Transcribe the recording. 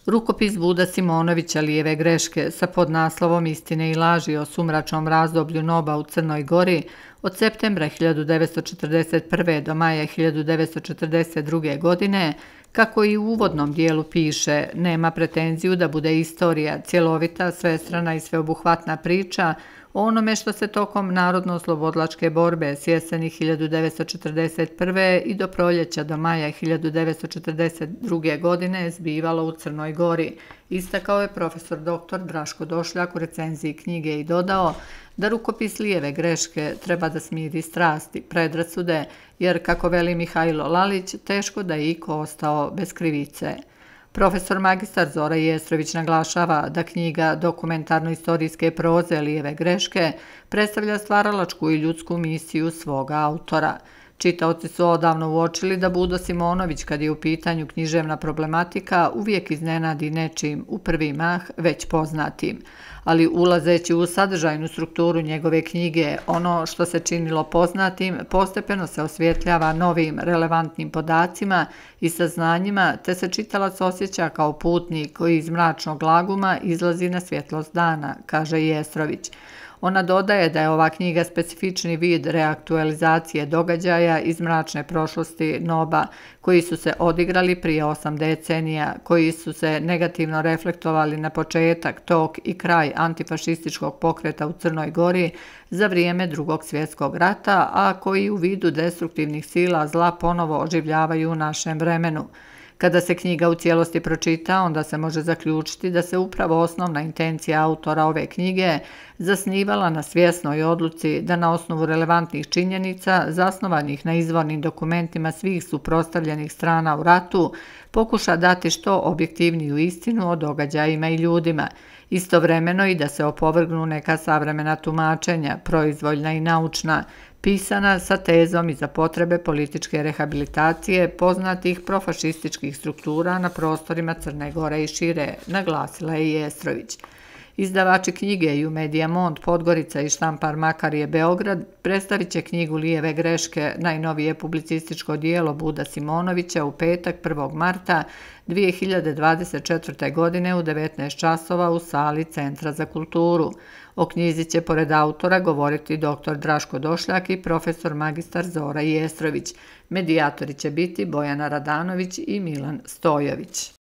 Rukopis Vuda Simonovića Lijeve greške sa podnaslovom Istine i laži o sumračnom razdoblju NOB-a u Crnoj Gori od septembra 1941. do maja 1942. godine, kako i u uvodnom dijelu piše, nema pretenziju da bude istorija, cjelovita, svestrana i sveobuhvatna priča o onome što se tokom narodno-oslobodilačke borbe s jeseni 1941. i do proljeća do maja 1942. godine zbivalo u Crnoj Gori, istakao je profesor dr. Draško Došljak u recenziji knjige i dodao da rukopis Lijeve greške treba da smiri strasti, predrasude, jer, kako veli Mihajlo Lalić, teško da je iko ostao bez krivice. Profesor magistar Zora Jestrović naglašava da knjiga dokumentarno-istorijske proze Lijeve greške predstavlja stvaralačku i ljudsku misiju svoga autora. Čitaoci su odavno uočili da Vudo Simonović, kad je u pitanju književna problematika, uvijek iznenadi nečim u prvi mah već poznatim. Ali ulazeći u sadržajnu strukturu njegove knjige, ono što se činilo poznatim postepeno se osvjetljava novim, relevantnim podacima i saznanjima, te se čitalac osjeća kao putnik koji iz mračnog laguma izlazi na svjetlost dana, kaže Jestrović. Ona dodaje da je ova knjiga specifični vid reaktualizacije događaja iz mračne prošlosti NOB-a, koji su se odigrali prije 8 decenija, koji su se negativno reflektovali na početak, tok i kraj antifašističkog pokreta u Crnoj Gori za vrijeme Drugog svjetskog rata, a koji u vidu destruktivnih sila zla ponovo oživljavaju u našem vremenu. Kada se knjiga u cijelosti pročita, onda se može zaključiti da se upravo osnovna intencija autora ove knjige zasnivala na svjesnoj odluci da na osnovu relevantnih činjenica, zasnovanih na izvornim dokumentima svih suprotstavljenih strana u ratu, pokuša dati što objektivniju istinu o događajima i ljudima, istovremeno i da se opovrgnu neka savremena tumačenja, proizvoljna i naučna, pisana sa tezom i za potrebe političke rehabilitacije poznatih profašističkih struktura na prostorima Crne Gore i šire, naglasila je Jestrović. Izdavači knjige Ju-Media Mont Podgorica i Štampar Makarije Beograd predstavit će knjigu Lijeve greške, najnovije publicističko dijelo Vuda Simonovića, u petak 1. marta 2024. godine u 19 časova u sali Centra za kulturu. O knjizi će pored autora govoriti dr. Draško Došljak i profesor magistar Zora Jestrović. Medijatori će biti Bojana Radanović i Milan Stojović.